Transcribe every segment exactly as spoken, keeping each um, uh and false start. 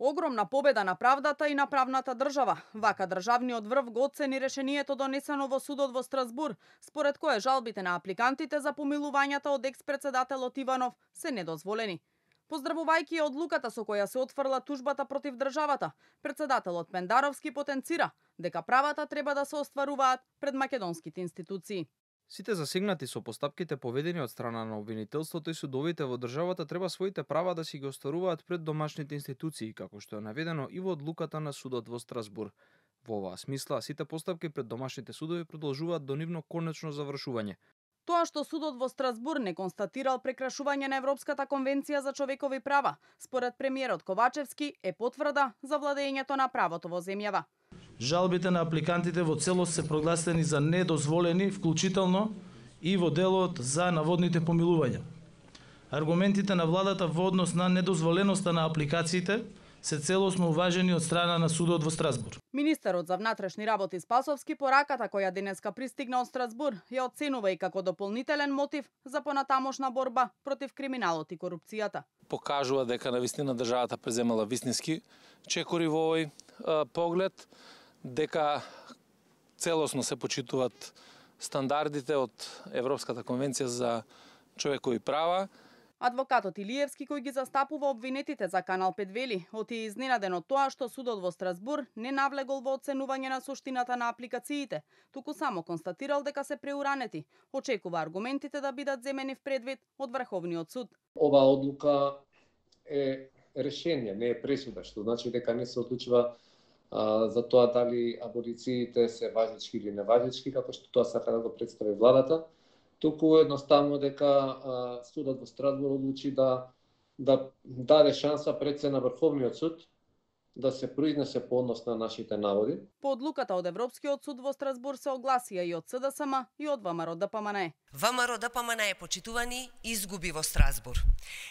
Огромна победа на правдата и на правната држава. Вака државниот врв го оцени решението донесено во судот во Страсбур, според кое жалбите на апликантите за помилувањата од екс-председателот Иванов се недозволени. Поздравувајќи одлуката со која се отфрла тужбата против државата, председателот Пендаровски потенцира дека правата треба да се остваруваат пред македонските институции. Сите засегнати со постапките поведени од страна на обвинителството и судовите во државата треба своите права да си ги остваруваат пред домашните институции, како што е наведено и во одлуката на судот во Страсбур. Во оваа смисла, сите постапки пред домашните судови продолжуваат до нивно конечно завршување. Тоа што судот во Страсбур не констатирал прекрашување на Европската конвенција за човекови права, според премиерот Ковачевски, е потврда за владењето на правото во земјава. Жалбите на апликантите во целост се прогласени за недозволени, вклучително и во делот за наводните помилувања. Аргументите на владата во однос на недозволеноста на апликациите се целосно уважени од страна на судот во Страсбур. Министерот за внатрешни работи Спасовски пораката која денеска пристигна од Страсбур ја оценува и како дополнителен мотив за понатамошна борба против криминалот и корупцијата. Покажува дека навистина државата преземала вистински чекори во овој а, поглед, дека целосно се почитуваат стандардите од Европската конвенција за човекови права. Адвокатот Илиевски, кој ги застапува обвинетите за Канал пет, вели, оти е изненаден од тоа што судот во Страсбур не навлегол во оценување на суштината на апликациите, туку само констатирал дека се преуранети. Очекува аргументите да бидат земени в предвид од Врховниот суд. Ова одлука е решение, не е пресуда, што значи дека не се одлучува а, за тоа дали аболициите се важечки или неважечки, како што тоа сака да го представи владата, туку едноставно дека а, судот во Страсбур одлучи да да даде шанса пред се на Врховниот суд да се произнесе по однос на нашите наводи. По одлуката од Европскиот суд во Страсбур се огласија и од СДСМ и од ВМРО-ДПМНЕ. ВМРО-ДПМНЕ, почитувани, изгуби во Страсбур.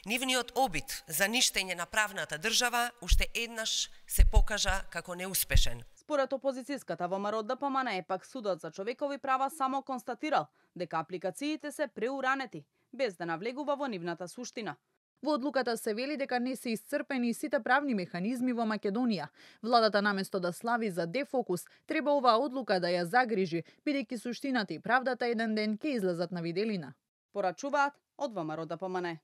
Нивниот обид за ништење на правната држава уште еднаш се покажа како неуспешен. Според опозицијската ВМРО-ДПМНЕ, пак судот за човекови права само констатирал дека апликациите се преуранети, без да навлегува во нивната суштина. Во одлуката се вели дека не се исцрпени сите правни механизми во Македонија. Владата наместо да слави за дефокус, треба оваа одлука да ја загрижи, бидејќи суштината и правдата еден ден ќе излезат на виделина. Порачуваат од ВМРО-ДПМНЕ.